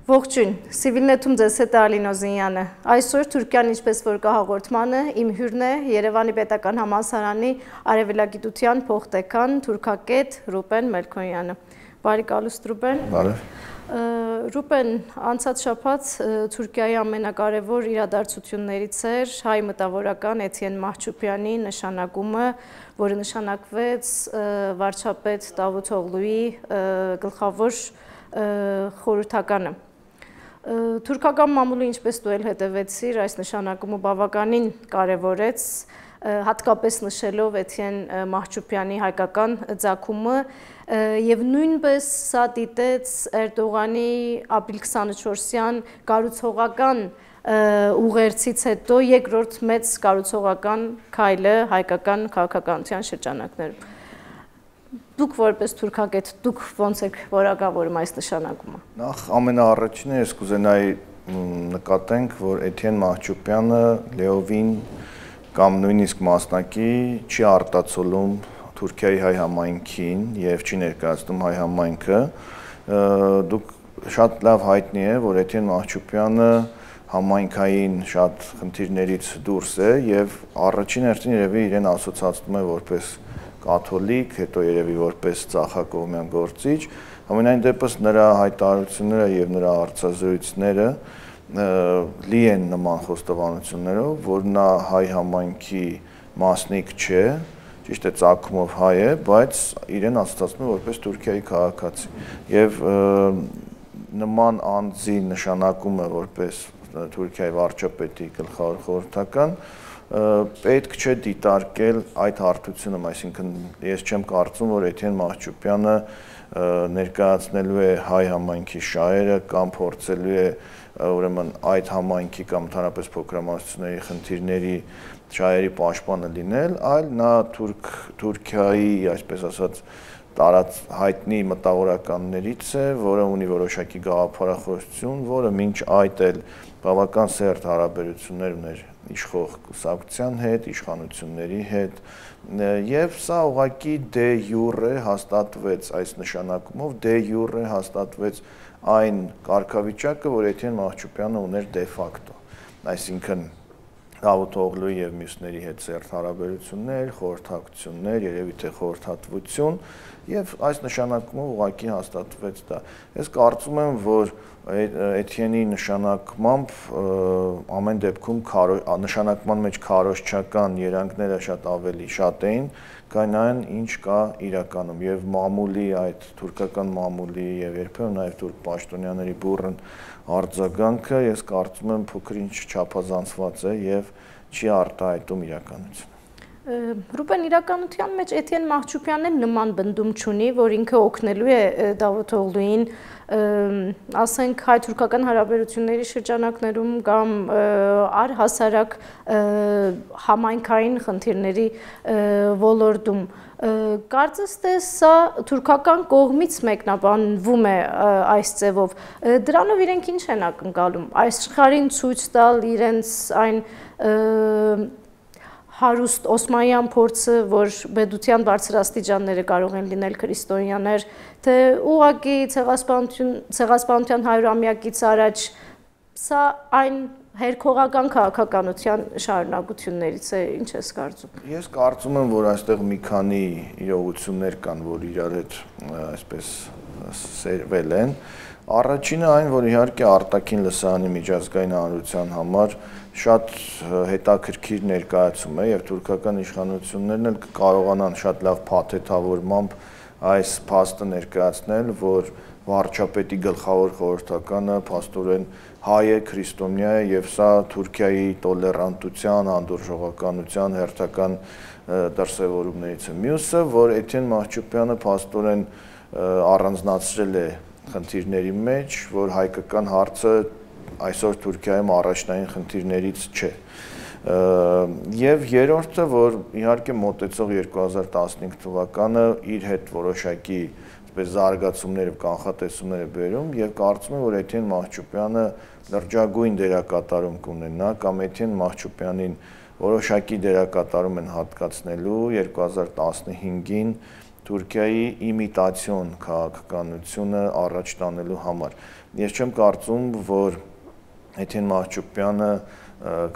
Ողջույն, Civilnet-ում ձեզ հետ է Ալին Օզինյանը։ Այսօր Թուրքիան ինչպես որ կա հաղորդմանը, իմ հյուրն է Երևանի պետական համալսարանի արևելագիտության փոխտեկան թուրքագետ Ռուբեն Մելքոնյանը։ Բարի կալուստ Ռուբեն։ Բարև։ Ռուբեն, անցած շաբաթ Թուրքիայի ամենակարևոր իրադարձություններից էր հայ մտավորական Էթիեն Մահչուբյանի նշանակումը, որը նշանակվեց վարչապետ Դավութ Օղլուի գլխավոր խորհրդականը։ Թուրքական մամուլը, ինչպես դու էլ հետևեցիր, այս նշանակումը բավականին կարևորեց, հատկապես նշելով Էթիեն Մահչուբյանի հայկական ծագումը եւ նույնպես սա դիտեց Էրդողանի ապրիլ 24-յան կառուցողական ուղերձից հետո երկրորդ մեծ կառուցողական քայլը հայկական քաղաքականության շրջանակներում։ Դուք որպես թուրքագետ, դուք ոնց եք որակավորում այս նշանակումը։ Նախ ամենաառաջինը ես կուզենայի նկատենք, որ Էթիեն Մահչուբյանը լեովին կամ նույնիսկ մասնակի չի արտացոլում Թուրքիայի հայ համայնքին եւ չի ներկայացնում հայ համայնքը։ Դուք շատ լավ հայտնի է, որ Էթիեն Մահչուբյանը համայնքային շատ խնդիրներից դուրս է եւ առաջին հերթին երևի իրեն ասոցացնում է որպես կաթոլիկ, հետո երևի որպես ծախակողմյան գործիչ, ամենայն դեպս նրա հայտարարությունները եւ նրա արծազրույցները լի են նման խոստովանություններով, որ նա հայ համայնքի մասնիկ չէ, ճիշտ է ծագումով հայ է, բայց իրեն ասոցացնում է որպես Թուրքիայի քաղաքացի եւ նման անձի նշանակումը որպես Թուրքիայի վարչապետի գլխավոր խորհրդական պետք չէ դիտարկել այդ հարթությունը, այսինքն ես չեմ կարծում, որ Էթիեն Մահչուբյանը ներկայացնելու է հայ համայնքի շահերը կամ փորձելու է ուրեմն այդ համայնքի կամ ընդհանրապես փոքրամասնությունների խնդիրների շահերի պաշտպանը լինել, այլ նա Թուրքիայի, այսպես ասած, տարած հայտնի մտավորականներից է, որը ունի որոշակի գաղափարախոսություն, որը մինչ այդ էլ բավական սերտ հարաբերություններ ուներ իշխող կուսակցության հետ, իշխանությունների հետ, եւ սա ուղղակի դե յուրե հաստատվեց այս նշանակումով, դե յուրե հաստատվեց այն կարգավիճակը, որ Էթիեն Մահչուբյանը ուներ դե ֆակտո, այսինքն Դավութ Օղլուի եւ մյուսների հետ սերտ հարաբերություններ, խորհրդակցություններ, երևի թե խորհրդատվություն եւ այս նշանակումով ուղղակի հաստատվեց դա։ Ես կարծում եմ, որ Էթիենի նշանակմամբ ամեն դեպքում նշանակման մեջ քարոզչական երանգները շատ ավելի շատ էին, քան այն ինչ կա իրականում եւ մամուլի այդ թուրքական մամուլի եւ երբեմն նաեւ թուրք պաշտոնյաների բուրըն արձագանքը ես կարծում եմ փոքր ինչ չափազանցված է եւ չի արտահայտում իրականությունը։ Ռուբեն, իրականության մեջ Էթիեն Մահչուբյանն նման բնդում չունի, որ ինքը օգնելու է Դավութ Օղլուին, ասենք հայ-թուրքական հարաբերությունների շրջանակներում կամ առհասարակ համայնքային խնդիրների ոլորտում։ Կարծես թե սա թուրքական կողմից մեկնաբանվում է այս ձևով։ Դրանով իրենք ինչ են ակնկալում։ Աշխարհին ցույց տալ իրենց այն հարուստ օսմանյան փորձը, որ բեդության բարձրաստիճանները կարող են լինել քրիստոնյաներ, թե ուղղակի ցեղասպանության 100-ամյակից առաջ սա այն հերքողական քաղաքականության շարունակություններից է, ինչ ես կարծում։ Ես կարծում եմ, որ այստեղ մի քանի իրողություններ կան, որ իրար հետ այսպես սերվել են։ Առաջինը այն, որ իհարկե արտաքին լսարանի միջազգային հանրության համար շատ հետաքրքիր ներկայացում է եւ թուրքական իշխանություններն էլ կարողանան շատ լավ փաթեթավորմամբ այս փաստը ներկայացնել, որ վարչապետի գլխավոր խորհրդականը փաստորեն հայ է, քրիստոնյա է եւ սա Թուրքիայի տոլերանտության, անդուրժողականության հերթական դրսևորումներից է։ Մյուսը, որ Էթիեն Մահչուբյանը փաստորեն առանձնացրել է խնդիրների մեջ, որ հայկական հարցը այսօր Թուրքիայում առաջնային խնդիրներից չէ։ Եվ երրորդը, որ իհարկե մոտեցող 2015 թվականը իր հետ որոշակի զարգացումներ եւ կանխատեսումներ է բերում եւ կարծում եմ, որ Էթիեն Մահչուբյանը լրջագույն դերակատարում կունենա կամ Էթիեն Մահչուբյանին որոշակի դերակատարում են հատկացնելու 2015-ին Թուրքիայի իմիտացիոն քաղաքականությունը առաջ տանելու համար։ Ես չեմ կարծում, որ Էթյեն Մահչուպյանը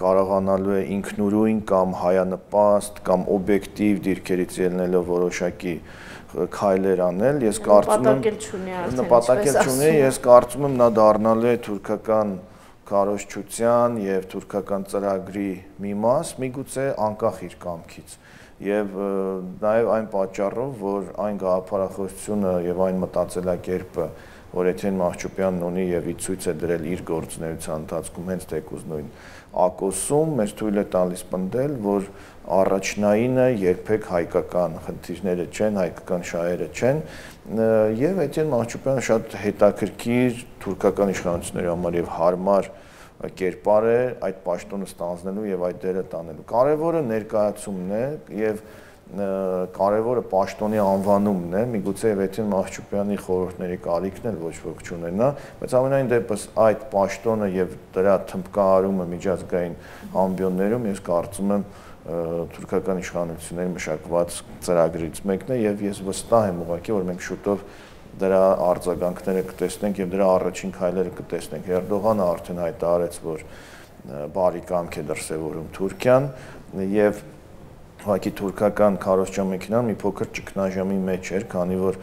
կարողանալու է ինքնուրույն կամ հայանպաստ կամ օբյեկտիվ դիրքերից ելնելով որոշակի քայլեր անել, ես կարծում եմ նպատակել չունի, ես կարծում եմ նա դառնալու է թուրքական քարոզչության եւ թուրքական ծրագրի մի մաս, միգուցե անկախ իր կամքից։ Եվ նաեւ այն պատճառով, որ այն գաղափարախոսությունը եւ այն մտածելակերպը, որ Էթյեն Մահչուպյանն ունի եւ ի ցույց է դրել իր գործունեության ընթացքում հենց թեկուզ նույն ակոսում, մեզ թույլ է տալիս պնդել, որ առաջնայինը երբեք հայկական խնդիրները չեն, հայկական շահերը չեն, եւ Էթյեն Մահչուպյանը շատ հետաքրքիր թուրքական իշխանությունների համար եւ հարմար կերպար է այդ պաշտոնը ստանձնելու եւ այդ դերը տանելու։ Կարևորը ներկայացումն է եւ կարևորը պաշտոնի անվանումն է, միգուցե Էթյեն Մահչուպյանի խորհուրդների կարիքն էլ ոչ ոք չունենա, բայց ամենայն դեպս այդ պաշտոնը եւ դրա թմբկահարումը միջազգային ամբիոններում ես կարծում եմ թուրքական իշխանությունների մշակված ծրագրից մեկն է եւ ես վստահ եմ ուղղակի, որ մենք շուտով դրա արձագանքները կտեսնենք եւ դրա առաջին քայլերը կտեսնենք։ Էրդողանը արդեն հայտարարեց, որ բարի կամք է դրսեւորում Թուրքիան եւ ուղղակի թուրքական քարոզչամեքենան մի փոքր ճգնաժամի մեջ էր, քանի որ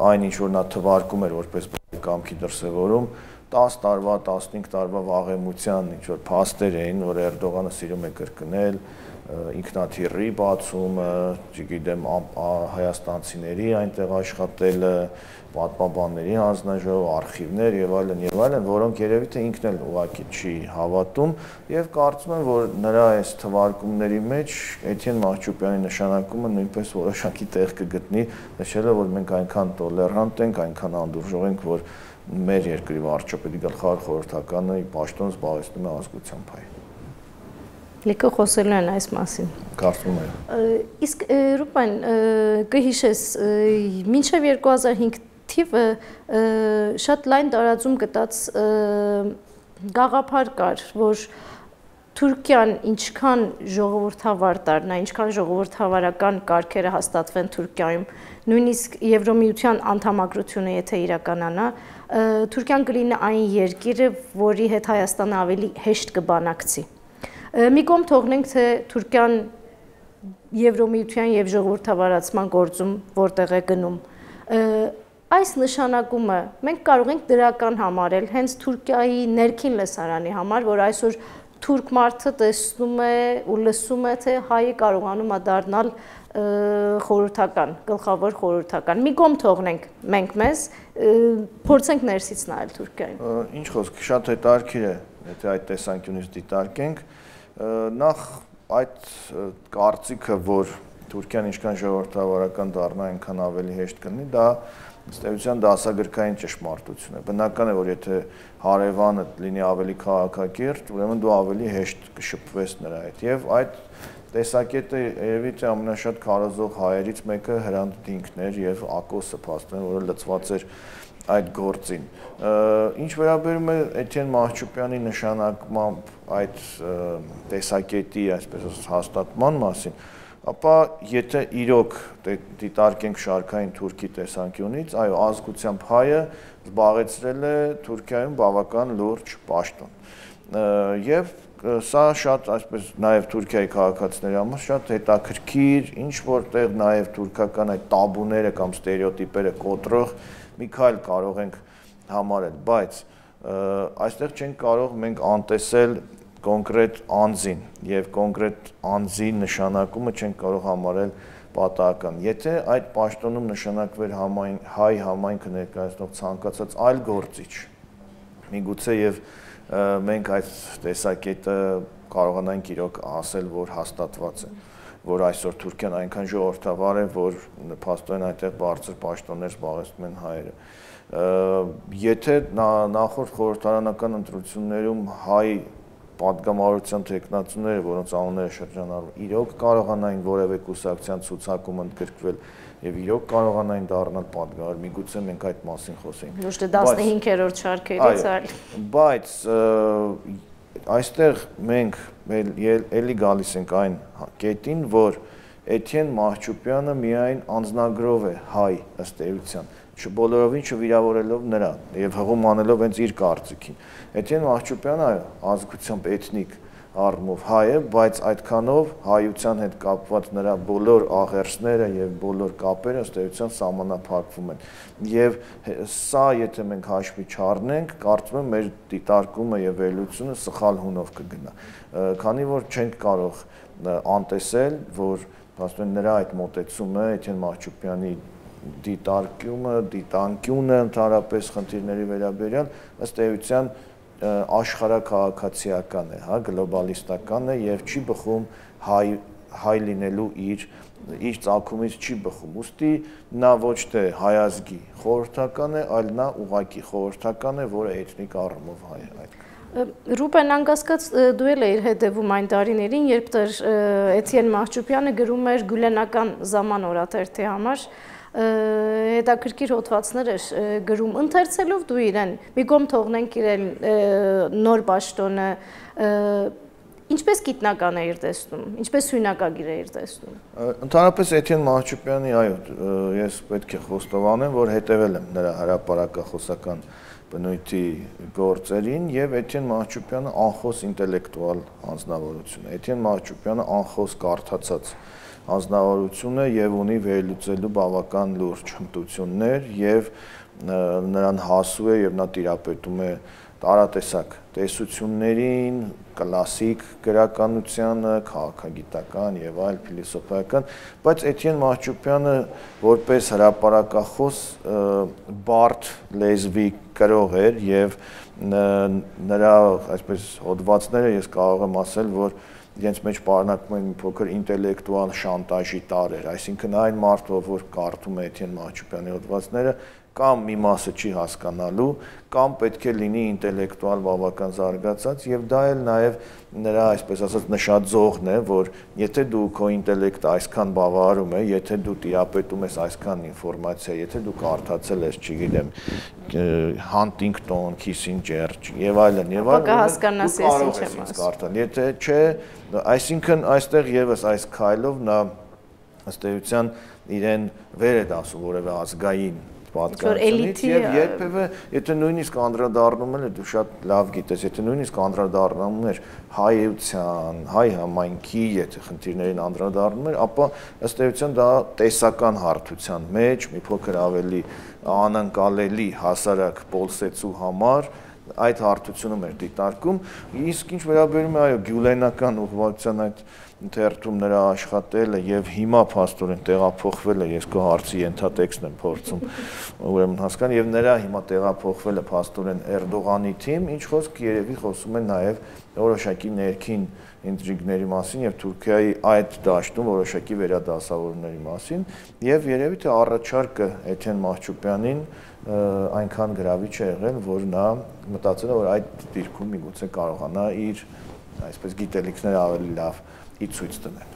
այն ինչ որ նա թվարկում էր որպես բարի կամքի դրսևորում 10 տարվա, 15 տարվա վաղեմության ինչ որ փաստեր էին, որ Էրդողանը սիրում է կրկնել, ինքնաթիռի բացումը, չգիտեմ, հայաստանցիների այնտեղ աշխատելը, պատմաբանների հանձնաժողով, արխիվներ եւ այլն, որոնք երևի թե ինքն էլ ուղղակի չի հավատում եւ կարծում եմ, որ նրա այս թվարկումների մեջ Էթյեն Մահչուպյանի նշանակումը նույնպես որոշակի տեղ կգտնի, նշելով, որ մենք այնքան տոլերանտ ենք, այնքան անդուրժող ենք, որ մեր երկրի վարչապետի գլխավոր խորհրդականը պաշտոն զբաղեցնում է ազգությամբ հայ։ Լիքը խոսելու են այս մասին։ Կարծում եմ։ Իսկ Ռուբեն, կհիշես, մինչև 2005 թիվը շատ լայն տարածում գտած գաղափար կար, որ Թուրքիան ինչքան ժողովրդավար դառնա, ինչքան ժողովրդավարական կարգերը հաստատվեն Թուրքիայում, նույնիսկ Եվրոմիության անդամակցությունը եթե իրականանա, Թուրքիան կլինի այն երկիրը, որի հետ Հայաստանը ավելի հեշտ կբանակցի։ Մի կողմ թողնենք, թե Թուրքիան Եվրոմիության եւ ժողովրդավարացման գործում որտեղ է գնում։ Այս նշանակումը մենք կարող ենք դրական համարել հենց Թուրքիայի ներքին լսարանի համար, որ այսօր թուրք մարդը տեսնում է ու լսում է, թե հայը կարողանում է դառնալ խորհրդական, գլխավոր խորհրդական։ Մի կողմ թողնենք մենք մեզ, փորձենք ներսից նայել Թուրքիային։ Ինչ խոսք, շատ հետաքրքիր է, եթե այդ տեսանկյունից դիտարկենք, նախ այդ կարծիքը, որ Թուրքիան ինչքան ժողովրդավարական դառնա, այնքան ավելի հեշտ կլինի, դա ըստ էության դասագրքային ճշմարտություն է։ Բնական է, որ եթե հարևանը լինի ավելի քաղաքակիրթ, ուրեմն դու ավելի հեշտ կշփվես նրա հետ։ Եվ այդ տեսակետը երևի թե ամենաշատ քարոզող հայերից մեկը Հրանտ Դինքն էր եւ Ակոսը փաստորեն, որը լծված էր այդ գործին։ Ինչ վերաբերում է Էթյեն Մահչուպյանի նշանակմամբ այդ տեսակետի, այսպես հաստատման մասին, ապա եթե իրոք դիտարկենք շարքային թուրքի տեսանկյունից, այո, ազգությամբ հայը զբաղեցրել է Թուրքիայում բավական լուրջ պաշտոն։ Եվ սա շատ, այսպես նաև Թուրքիայի քաղաքացիների համար շատ հետաքրքիր, ինչ որտեղ նաև թուրքական այդ տաբուները կամ ստերեոտիպերը կոտրող մի քայլ կարող ենք համարել, բայց այստեղ չենք կարող մենք անտեսել կոնկրետ անձին եւ կոնկրետ անձի նշանակումը չենք կարող համարել պատահական։ Եթե այդ պաշտոնում նշանակվեր հայ համայնքը ներկայացնող ցանկացած այլ գործիչ, միգուցե եւ մենք այդ տեսակետը կարողանանք իրոք ասել, որ հաստատված է, որ այսօր Թուրքիան այնքան ժողովրդավար է, որ փաստորեն այնտեղ բարձր պաշտոններ զբաղեցնում են հայերը։ Եթե նախորդ խորհրդարանական ընտրություններում հայ պատգամավորության տեխնացուները, որոնց անունները շրջանառվում, իրոք կարողանային որևէ կուսակցության ցուցակում ընդգրկվել եւ իրոք կարողանային դառնալ պատգամավոր, միգուցե մենք այդ մասին խոսենք։ Ոչ թե 15-րդ շարքերից, այլ։ Բայց այստեղ մենք էլի գալիս ենք այն կետին, որ Էթյեն Մահչուպյանը միայն անձնագրով է հայ ըստ էության, բոլորովին չվիրավորելով նրան եւ հղում անելով հենց իր կարծիքին։ Էթյեն Մահչուպյանը ազգությամբ էթնիկ առումով հայ է, բայց այդքանով հայության հետ կապված նրա բոլոր աղերսները եւ բոլոր կապերը ըստ էության սահմանափակվում են։ Եվ սա, եթե մենք հաշվի չառնենք, կարծում եմ մեր դիտարկումը եւ վերլուծությունը սխալ հունով կգնա։ Քանի որ չենք կարող անտեսել, որ ասում նրա այդ մոտեցումը Էթյեն Մահչուպյանի դիտանկյունը ընդհանրապես խնդիրների վերաբերյալ ըստ էության աշխարհաքաղաքացիական է, հա, գլոբալիստական է եւ չի բխում հայ լինելու իր ծագումից չի բխում։ Ուստի նա ոչ թե հայազգի խորհրդական է, այլ նա ուղղակի խորհրդական է, որը էթնիկ առումով հայ է։ Ռուբեն, անկասկած դու էլ էիր հետևում այն տարիներին, երբ Էթյեն Մահչուպյանը գրում էր Գյուլենական Zaman օրաթերթի համար հետաքրքիր հոդվածներ էր գրում, ընթերցելով դու իրեն, մի կողմ թողնենք իրեն նոր պաշտոնը, ինչպես գիտնական էիր տեսնում, ինչպես հյունակագիր էիր տեսնում։ Ընդհանրապես Էթյեն Մահչուպյանի, այո, ես պետք է խոստովանեմ, որ հետևել եմ նրա հրապարակախոսական բնույթի գործերին եւ Էթյեն Մահչուպյանը անխոս ինտելեկտուալ անձնավորություն է։ Էթյեն Մահչուպյանը անխոս կարդացած անձնավորություն է եւ ունի վերլուծելու բավական լուրջ հմտություններ եւ նրան հասու է եւ նա տիրապետում է տարատեսակ տեսություններին, կլասիկ գրականությանը, քաղաքագիտական եւ այլ փիլիսոփայական, բայց Էթյեն Մահչուպյանը որպես հրապարակախոս բարդ լեզվի կրող էր եւ նրա այսպես հոդվածները ես կարող եմ ասել, որ իրենց մեջ պարունակում են մի փոքր ինտելեկտուալ շանտաժի տարրեր, այսինքն այն մարդը, որ կարդում է Էթյեն Մահչուպյանի հոդվածները, կամ մի մասը չի հասկանալու, կամ պետք է լինի ինտելեկտուալ բավական զարգացած եւ դա էլ նաեւ նրա այսպես ասած նշաձողն է, որ եթե դու քո ինտելեկտը այսքան բավարարում է, եթե դու տիրապետում ես այսքան ինֆորմացիա, եթե դու կարդացել ես, չգիտեմ, Huntington, Kissinger եւ այլն, կհասկանաս ես ինչ եմ ասում։ Եթե չէ, այսինքն այստեղ եւս այս քայլով նա ըստ էության իրեն վեր է դասում որևէ ազգային պատկանելիից եւ երբևէ եթե նույնիսկ անդրադառնում էր դու շատ լավ գիտես եթե նույնիսկ անդրադառնում էր հայության հայ համայնքի եթե խնդիրներին անդրադառնում էր ապա ըստ էության դա տեսական հարթության մեջ մի փոքր ավելի անընկալելի հասարակ պոլսեցու համար այդ հարթությունը մեր դիտարկում իսկ ինչ վերաբերում է այո գյուլենական ուղղվածության այդ թերթում նրա աշխատելը եւ հիմա փաստորեն տեղափոխվել է ես քո հարցի ենթատեքստն եմ փորձում ուրեմն հասկանալ եւ նրա հիմա տեղափոխվելը փաստորեն Էրդողանի թիմ ինչ խոսք երևի խոսում է նաեւ որոշակի ներքին ինտրիգների մասին եւ Թուրքիայի այդ դաշտում որոշակի վերադասավորումների մասին եւ երևի թե առաջարկը Էթյեն Մահչուպյանին այնքան գրավիչ է եղել որ նա մտածել է որ այդ դիրքում միգուցե կարողանա իր այսպես գիտելիքները ավելի լավ ցույց տնել։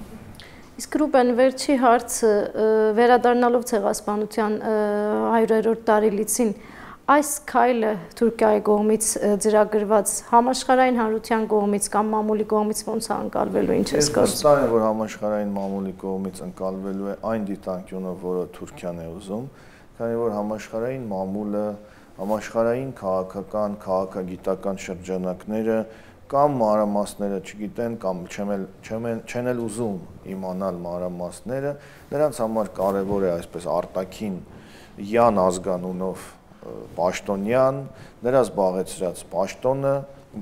Իսկ Ռուբեն վերջի հարցը վերադառնալով ցեղասպանության 100-րդ տարելիցին այս քայլը Թուրքիայի կողմից ծրագրված համաշխարհային հանրության կողմից կամ մամուլի կողմից ոնց է ընկալվելու ինչ ես կարծում։ Վստահ եմ որ համաշխարհային մամուլի կողմից ընկալվելու է այն դիտանկյունը որը Թուրքիան է ուզում, քանի որ համաշխարհային մամուլը, համաշխարհային քաղաքական, քաղաքագիտական շրջանակները կամ մանրամասները չգիտեն կամ չեն էլ ուզում իմանալ մանրամասները, նրանց համար կարևոր է այսպես արտաքին յան ազգանունով պաշտոնյան, նրա զբաղեցրած պաշտոնը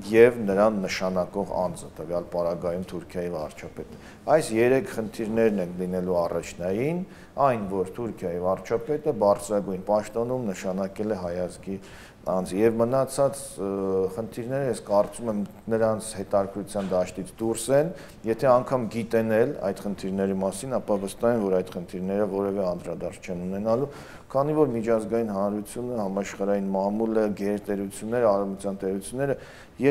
եւ նրան նշանակող անձը, տվյալ պարագայում Թուրքիայի վարչապետը։ Այս երեք խնդիրներն են լինելու առաջնային, այն որ Թուրքիայի վարչապետը բարձրագույն պաշտոնում նշանակել է հայազգի անձ եւ մնացած խնդիրները ես կարծում եմ նրանց հետաքրքրության դաշտից դուրս են, եթե անգամ գիտենել այդ խնդիրների մասին, ապա վստահ եմ որ այդ խնդիրները որևէ անդրադարձ չեն ունենալու, քանի որ միջազգային հանրությունը, համաշխարհային մամուլը, գերտերությունները, արևմտյան տերությունները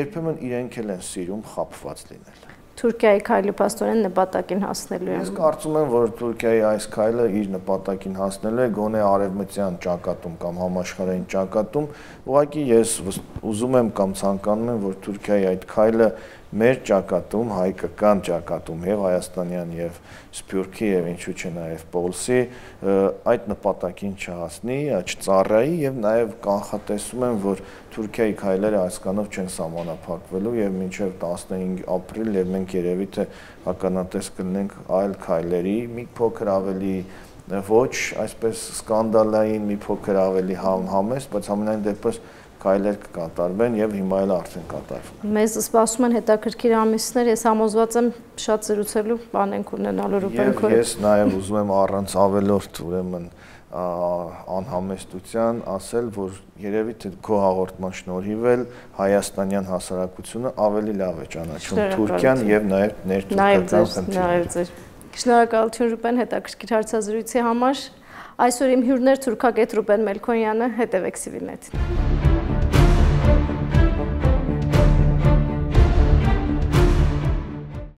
երբեմն իրենք էլ են սիրում խաբված լինել։ Թուրքիայի քայլը փաստորեն նպատակին հասնելու է։ Ես կարծում եմ, որ Թուրքիայի այս քայլը իր նպատակին հասնելու է գոնե արևմտյան ճակատում կամ համաշխարհային ճակատում, ուղղակի ես ուզում եմ կամ ցանկանում եմ, որ Թուրքիայի այդ քայլը մեր ճակատում, հայկական ճակատում եւ հայաստանյան եւ սփյուռքի եւ ինչու՞ չէ նաեւ Պոլսի այդ նպատակին չհասնի, չծառայի եւ նաեւ կանխատեսում եմ, որ Թուրքիայի քայլերը այս կանով չեն սահմանափակվելու եւ մինչեւ 15 ապրիլ եւ մենք երևի թե ականատես կլինենք այլ քայլերի, մի փոքր ավելի ոչ այսպես սկանդալային, մի փոքր ավելի համեստ, բայց ամենայն դեպս քայլեր կկատարվեն եւ հիմա էլ արդեն կատարվում։ Մեզ սպասում են հետաքրքիր ամիսներ, ես համոզված եմ շատ զրուցելու բան ենք ունենալու Ռուբեն քո հետ։ Ես նաեւ ուզում եմ առանց ավելորդ ուրեմն անհամեստության ասել, որ երևի թե քո հաղորդման շնորհիվ էլ հայաստանյան հասարակությունը ավելի լավ է ճանաչում Թուրքիան եւ նաեւ ներթուրքական խնդիրները։ Շնորհակալություն Ռուբեն հետաքրքիր հարցազրույցի համար։ Այսօր իմ հյուրն էր թուրքագետ Ռուբեն Մելքոնյանը, հետևեք Civilnet-ին։